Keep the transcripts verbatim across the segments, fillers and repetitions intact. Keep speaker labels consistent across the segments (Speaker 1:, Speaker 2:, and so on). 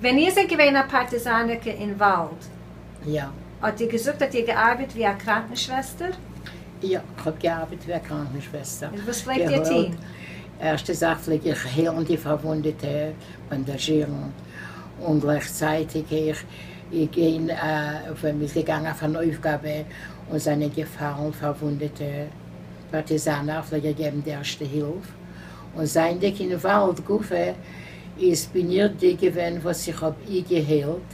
Speaker 1: ווען איר זענט געווען אַ פּאַרטיזאַנערקע אין וואַלד,
Speaker 2: יאָ.
Speaker 1: האָט איר געזאָגט, האָט איר געאַרבעט ווי אַ קראַנקנשוועסטער?
Speaker 2: יאָ, איך האָב געאַרבעט ווי אַ קראַנקנשוועסטער.
Speaker 1: און וואָס פֿלעגט איר טאָן?
Speaker 2: ערשטע זאַך פֿלעג איך היילן די פֿאַרוווּנדעטע, באַנדאַזשירן און גלײַכצײַטיק איך גיין, ווען מ'איז געגאַנגען אויף אַן אויפֿגאַבע און זענען געפֿאַלן פֿאַרוווּנדעטע פּאַרטיזאַנער, פֿלעג איך געבן די ערשטע הילף. און זײַענדיק אין וואַלד גופֿא, איז בין איך די געווען, וואָס איך האָב אי געהיילט,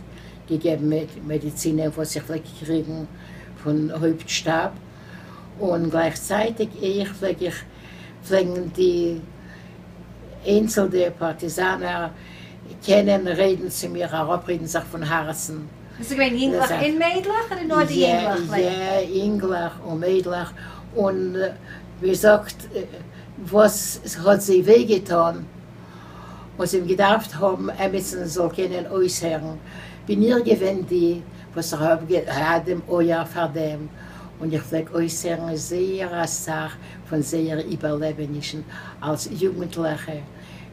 Speaker 2: געגעבן מעדיצינען, וואָס איך פֿלעג קריגן פֿון הויפּטשטאַב. און גלײַכצײַטיק איך פֿלעג איך פֿלעגן די איינצלנע פּאַרטיזאַנער קענען רעדן צו מיר, אַראָפּרעדן זיך פֿון האַרצן.
Speaker 1: איז עס געווען ייִנגלעך און מיידלעך אָדער נאָר די ייִנגלעך?
Speaker 2: יאָ, ייִנגלעך און מיידלעך. און ווי זאָגט, וואָס האָט זיי וויי געטאָן, און זיי האָבן געדאַרפֿט האָבן עמעצן זאָל קענען אויסהערן, בין איך געווען די, וואָס איך האָב געהאַט דעם אויער פֿאַר דעם. און איך פֿלעג אויסהערן זייער אַ סך פֿון זייערע איבערלעבענישן אַלס יוגנטלעכע,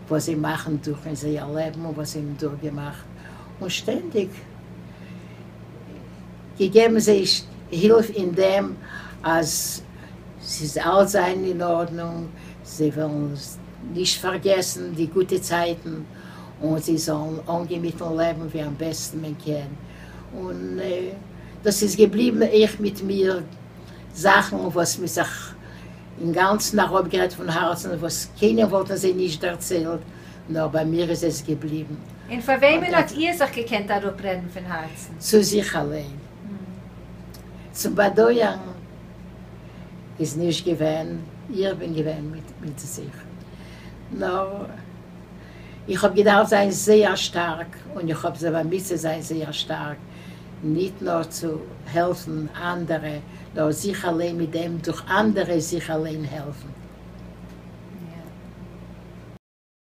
Speaker 2: וואָס זיי מאַכן דורך אין זייער לעבן און וואָס זיי האָבן דורכגעמאַכט. און שטענדיק געגעבן זיי הילף אין דעם, אַז ס'זאָל אַלץ זײַן אין אָרדנונג, זיי וועלן נישט פֿאַרגעסן די גוטע צײַטן און זיי זאָלן אָנגיין מיטן לעבן ווי אַם בעסטן מען קען. און דאָס איז געבליבן אויך מיט מיר זאַכן, וואָס מ'האָט זיך אין גאַנצן אַראָפּגערעדט פֿון האַרצן, וואָס קיינער וואָלטן זיי נישט דערציילט, נאָר בײַ מיר איז עס געבליבן.
Speaker 1: און פֿאַר וועמען האָט איר זיך געקענט אַראָפּרעדן פֿון האַרצן?
Speaker 2: צו זיך אַליין. צום באַדויערן איז נישט געווען, איך בין געווען מיט, מיט זיך. נאָר איך האָב געדאַרפֿט זײַן זייער שטאַרק און איך האָב זיך באַמיט צו זײַן זייער שטאַרק, נישט נאָר צו העלפֿן אַנדערע, נאָר זיך אַליין מיט דעם דורך אַנדערע זיך אַליין העלפֿן.